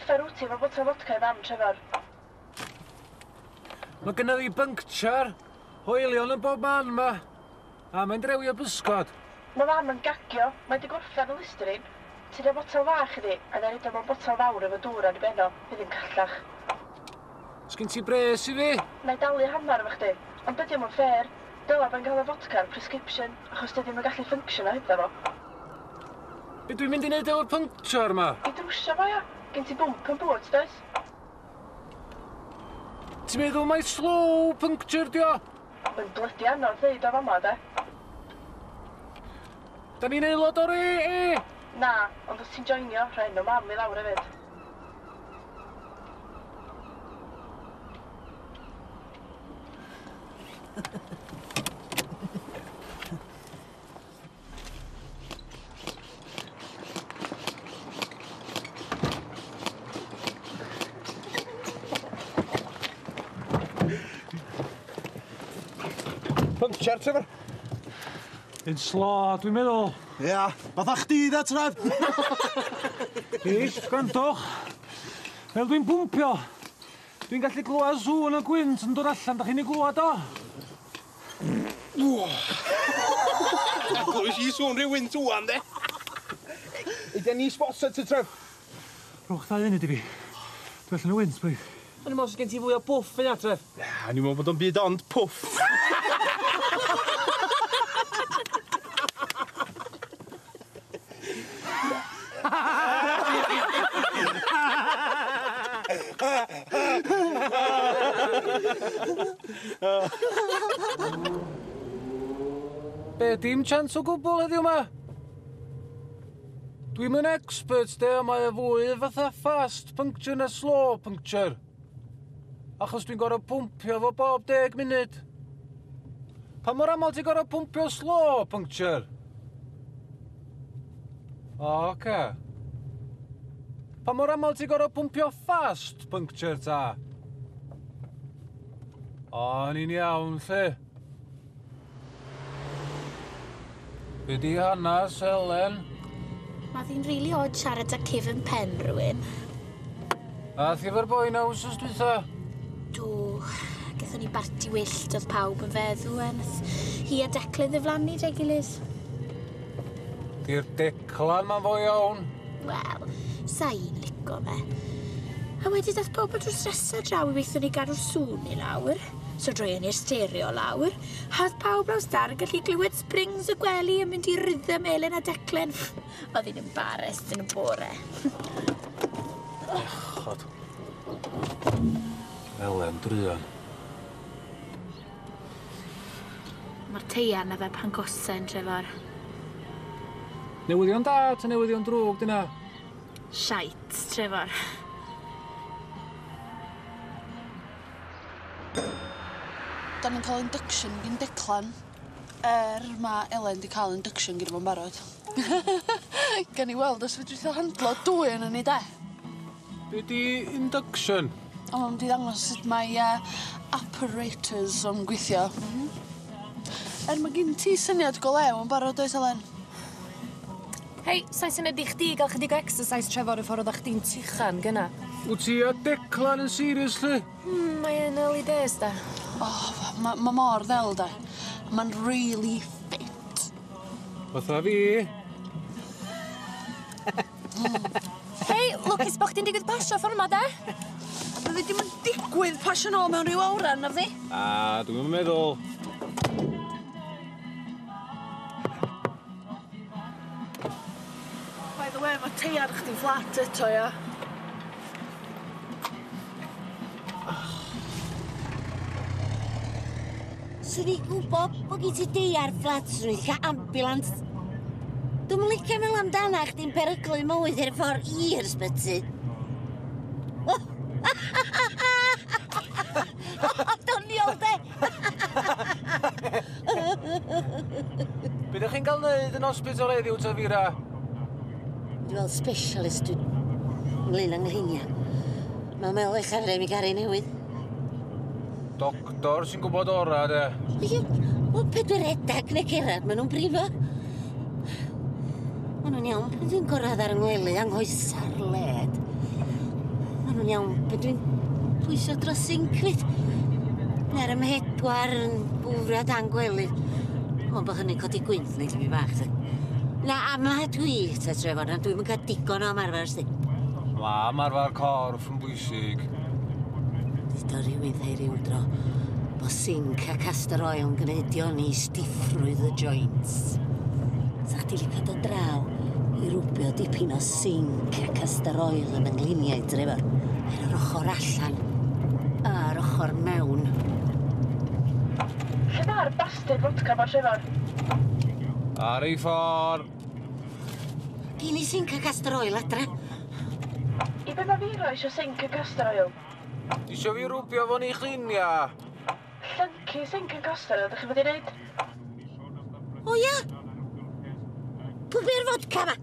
Uffar wyt ti efo botel fodca i fam, Trefor? Mae gynna fi bynctiar, hoelion yn bob man 'ma. A mae'n drewio bysgod. Mae fam yn gagio, mae 'di gorffen y Listerine. Ti'n rhoi botel fach iddi, a 'na roid o mewn botel fawr efo dŵr ar 'i ben o, fydd hi'n callach. Sgin ti bres i fi? Na i dalu hannar efo chdi, ond dydi o'm yn fair. Dyla bo'n cael y fodca ar prescription, achos dydi o'm yn gallu ffynctiono hebddo fo. Be dwi'n mynd i neud efo'r puncture 'ma? I drwsio fo ia? Gen ti bwmp yn boot does? Ti'n meddwl mai slow puncture 'di o? Mae'n blydi anodd ddeud o fama de. Da ni'n aelod o'r AA? Na, ond os ti'n joinio, rhoi enw mam i lawr hefyd. Puncture, Trevor. Un slo, dwi'n meddwl. Ia, fatha chdi da, Trev. Reit, gwrandwch. Fel dwi'n pwmpio, dwi'n gallu glywed sŵn y gwynt yn dod allan. Da chi'n ei glywed o? Glywys i sŵn rhyw wynt ŵan, de. Ydy ni sponsor ti, Trev? Rhowch ddau funud i fi. Dwi allan o wynt, please. O'n i'n meddwl sy gen ti fwy o bwff yna, Tref. Ia, o'n i'n meddwl bod o'n byd ond pwff. Be, dim chance o gwbl heddiw 'ma? Dwi'm yn expert de, ond mae o fwy fatha fast puncture na slow puncture. Achos dwi'n gorfod pwmpio fo bob 10 munud. Pa mor aml ti'n gorfod pwmpio slow puncture? O, oce. Pa mor aml ti'n gorfod pwmpio fast puncture ta? O, ni'n iawn, lle. Be di hanas, Elen? Mae ddi'n rili odd siarad â cefn pen rhywun. A thi efo'r boi na wsos dwytha? Do. Gaethon ni barti wyllt oedd pawb yn feddw a nath hi a Declan ddiflannu 'da'i gilydd. Di'r Declan ma'n fo iawn. Wel, sa i'n lico fe. A wedyn dath pobl drws nesa draw i weithio ni gadw'r sŵn i lawr. So droeon ni'r stereo lawr. A oedd pawb laws dar yn gallu glywed springs y gwely yn mynd i rhythm Elen a Declan. Oedd hi'n embarrassed yn y bore. Echod. Elen druan. Mae'r teiar na fe pan gosen, Trefor. Newyddion da ta newyddion drwg dyna? Shite, Trefor. Da ni'n cael induction gin Declan. Ma' Elen 'di cael induction gynno fo'n barod. Gawn ni weld os fedrith o handlo dwy onon ni de. Be' 'di induction? O ma' mynd i ddangos sut mae apparatus o'n gweithio. Er ma' gin ti syniad go lew yn barod oes Elen? Hei, sa'n syniad i chdi gael chydig o exercise Trefor y ffordd oeddach chdi'n tuchan gynna. Wt ti a Declan yn serious lly? Mae yn early days da. O, ma' ma' mor ddel de. Ma'n really fit. Fatha fi. Hei, lwcus bo' chdi'n digwydd pasio ffor 'ma de? Bydde dim yn digwydd pasio nôl mewn ryw awran na fyddi? A, dwi'm yn meddwl. By the way, ma' teiar chdi'n fflat eto, ia? Swn i'n gwybod bod gen ti deiar fflat, swn i'n cael ambulance. Dwi'm yn licio meddwl amdana chdi'n peryglu mywyd ar y ffordd i'r ysbyty. Doniol, de! Be ydych chi'n cael neud yn hospital heddiw ta Fira? Dwi'n weld specialist dwi'n ynglyn â nghleiniau. Mae'n meddwl eich arfer mi garu newydd. Doctor sy'n gwybod ora, de. Ie, wel, pe dwi'n redag neu cerdded, maen nhw'n brifo. Maen nhw'n iawn pan dwi'n gorau ar yng ngwely anghoesa'r led. yn iawn pe dwi'n pwyso dros sinc fyd. Na'r ymhedwar yn bwfrio dan gwely. Ond bod hynny'n codi gwynt neu mi bach. Ta. Na, a ma dwi, ta Trefor, na dwi'm yn cael digon o ymarfer, sti. Ma ymarfer corff yn bwysig. Dudo rhywun thai ryw dro bo sinc a castor oil yn gwneud dioni stiffrwydd y joints. Sa chdi licio dod draw i rwbio dipyn o sinc a castor oil yn yng ngliniau, Trefor. Ar yr ochr allan a'r ochr mewn. Lle mae'r bastard vodka ma, Trefor? Ar ei ffordd. Gin i sinc a castor oil adre. I be mae Vero eisiau sinc a castor oil? Isio fi rwbio fo'n ei chlinia. Llyncu sinc a castor oil, ydych chi fod i wneud? O ia? Pwy bi'r vodka ma?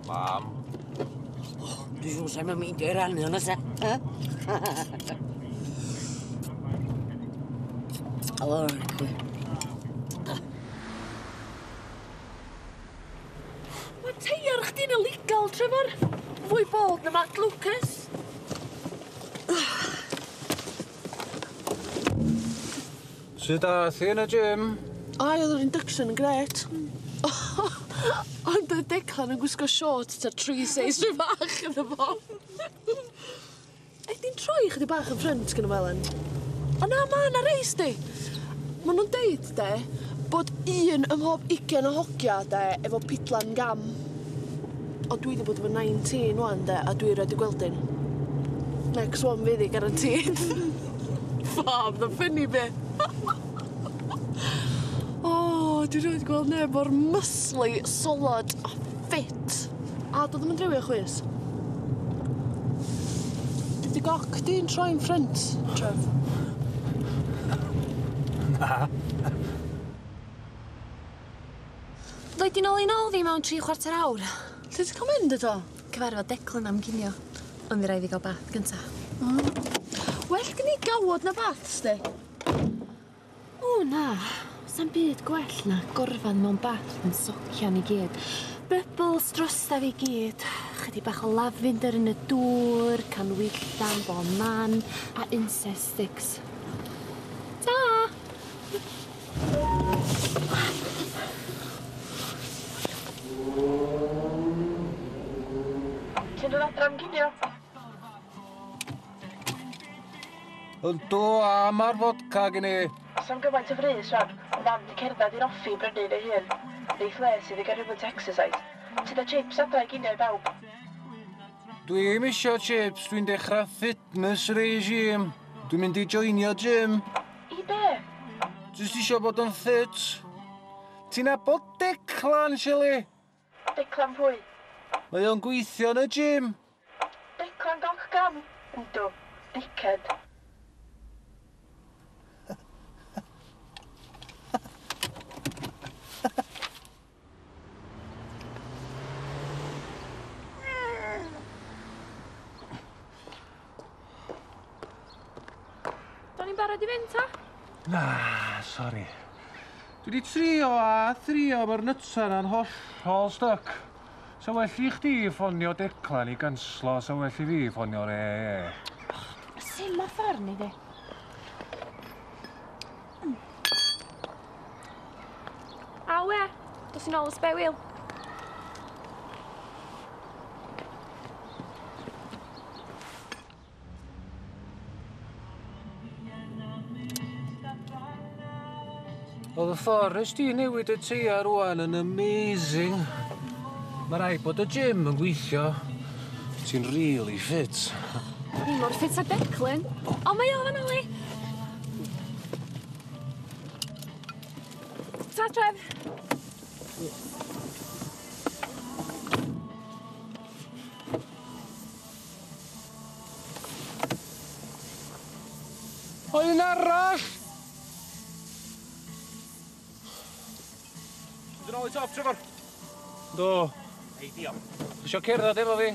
Mam. Dwi'n siŵr sa'n mynd i rannu hwnna sa. O, Mae teiar chdi'n illegal, Trefor. Fwy bold na Matt Lucas. Sut ath hi yn y gym? Ai, oedd yr induction yn grêt. Ond oedd Declan yn gwisgo shorts ta 3 seis rhy fach iddo fo. Ydy'n troi chydig bach yn ffrynt gyda fo, Elen? O na, ma' na reis di. Ma' nhw'n deud, de, bod un ym mhob 20 o hogia, de, efo pidlan gam. O dwi wedi bod efo 19 wan, de, a dwi rioed 'di gweld un. Next one fydd hi, guaranteed. Fab, the funny bit. O, dwi rioed 'di gweld neb mor muscly, solid a fit. A doedd o'm yn drewi o chwys. Ydi goc di'n troi'n ffrynt, Trev? Na. Ddoi di nôl i nôl fi mewn 3/4 awr. Lle ti'n cael mynd eto? Cyfarfod Declan am ginio. Ond fi rai fi gael bath gynta. Well gen i gawod na bath, sti. O na, sa'm byd gwell na gorfan mewn bath yn socian i gyd. Bubbles drosta fi gyd. Chydig bach o lavender yn y dŵr, canwyllan bo man, a incense sticks. Ta! Ti'n dod adra am ginio? Yndw, a ma'r vodka gen i. Sa'm gymaint o frys rwan, ond mam di cerdded i'r offi i brynu un ei hun. Neith les iddi gael rhywfaint o exercise. Ti da chips adra i ginio i bawb. Dwi'm isio chips, dwi'n dechrau fitness regime. Dwi'n mynd i joinio gym. I be? Jyst isio bod yn fit. Ti'n nabod Declan, Shelley? Declan pwy? Mae o'n gweithio yn y gym. Declan goc gam? Yndw, dickhead. Do'n i'n barod i fynd, ta? Na, sori. Dwi wedi trio a thrio, mae'r nytsa na'n hollol stuck. Sa well i chdi ffonio Declan i ganslo, sa well i fi ffonio'r EE. Sim o ffordd ni di. Awe, dos i'n ôl y spare wheel. Oedd y ffordd nes di newid y teiar rŵan yn amazing. Mae rhaid bod y gym yn gweithio. Ti'n really fit. Ni mor ffit a Declan. O, mae o fan li. Ta, Trev. O, un arall! Mynd yn ôl i top, Trefor. Do. Ei, diolch. Isio cerdded efo fi?